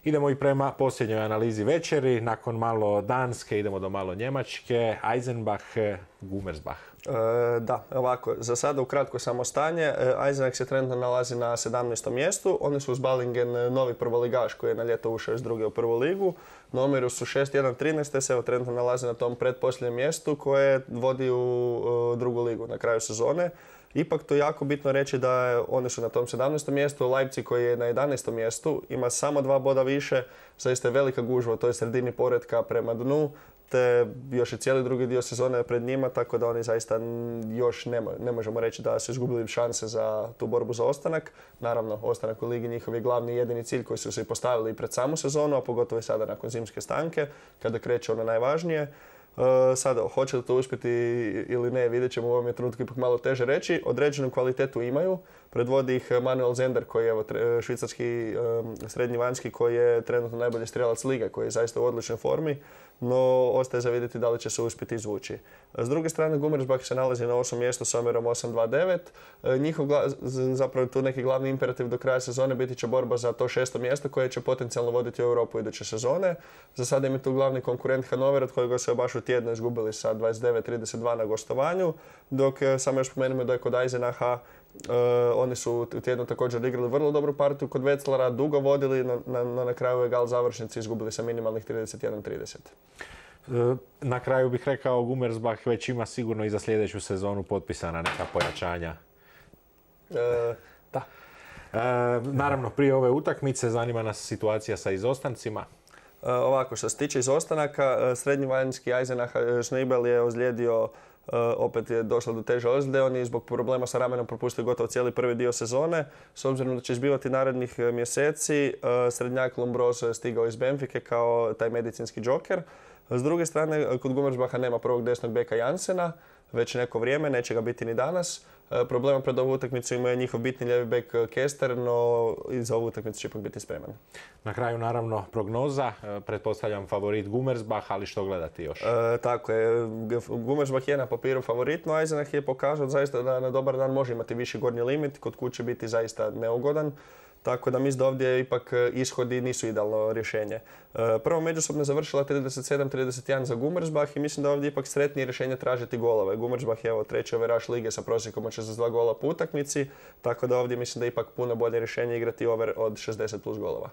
Idemo i prema posljednjoj analizi večeri. Nakon malo Danske idemo do malo Njemačke. Eisenbach, Gummersbach. Da, ovako, za sada ukratko samo stanje. Eisenbach se trenutno nalazi na 17. mjestu. Oni su uz Balingen novi prvoligaš koji je na ljeto ušao iz druge u prvu ligu. Na omjeru su 6-1-13, te se evo trenutno nalaze na tom pretposljednjem mjestu koje vodi u drugu ligu na kraju sezone. Ipak to je jako bitno reći da oni su na tom 17. mjestu, Leipzig koji je na 11. mjestu ima samo 2 boda više, zaista je velika gužva u toj sredini poretka prema dnu, te još i cijeli drugi dio sezone pred njima, tako da oni zaista još ne možemo reći da su izgubili šanse za tu borbu za ostanak. Naravno, ostanak u ligi njihov je glavni i jedini cilj koji su se postavili pred samu sezonu, a pogotovo i sada nakon zimske stanke, kada kreće ono najvažnije. Sada, hoće li to uspjeti ili ne, vidjet ćemo, u ovom je trenutku ipak malo teže reći. Određenu kvalitetu imaju, predvodi ih Manuel Zender koji je švicarski srednji vanjski koji je trenutno najbolji strijelac lige, koji je zaista u odličnoj formi, no ostaje za vidjeti da li će se uspjeti izvući. S druge strane, Gummersbach se nalazi na 8. mjestu s omjerom 8-2-9. Njihov zapravo tu neki glavni imperativ do kraja sezone biti će borba za to 6. mjesto koje će potencijalno voditi u Europu iduće sezone. Za sada im je tu glavni konkurent Hannover, od kojega se baš u tjednu izgubili sa 29-32 na gostovanju, dok samo još spomenemo da je kod Eisenacha oni su u tjednu također igrali vrlo dobru partiju kod Wetzlara, dugo vodili, no na kraju je gal završnici izgubili sa minimalnih 31-30. Na kraju bih rekao, Gummersbach već ima sigurno i za sljedeću sezonu potpisana neka pojačanja. Da. Naravno, prije ove utakmice zanima nas situacija sa izostancima. Ovako, što se tiče izostanaka, srednji vanjski Eisenach Schneibel je ozlijedio, opet je došlo do teže ozljede. On je zbog problema sa ramenom propustio gotovo cijeli prvi dio sezone. S obzirom da će izbivati narednih mjeseci, srednjak Lombroso je stigao iz Benfike kao taj medicinski džoker. S druge strane, kod Gummersbacha nema prvog desnog beka Jansena, već neko vrijeme, neće ga biti ni danas. Problema pred ovu utakmicu ima je njihov bitni lijevi bek Kester, no i za ovu utakmicu će ipak biti spreman. Na kraju, naravno, prognoza. Pretpostavljam favorit Gummersbach, ali što gledati još? Tako je. Gummersbach je na papiru favorit, no Eisenach je pokazao zaista da na dobar dan može imati viši gornji limit, kod kuće biti zaista neugodan. Tako da mislim da ovdje ipak ishodi nisu idealno rješenje. Prvo međusobno je završila 37-31 za Gummersbach i mislim da ovdje ipak sretnije rješenje tražiti golove. Gummersbach je evo treći overaš lige sa prosjekom od 62 gola po utakmici, tako da ovdje mislim da je ipak puno bolje rješenje igrati over od 60 plus golova.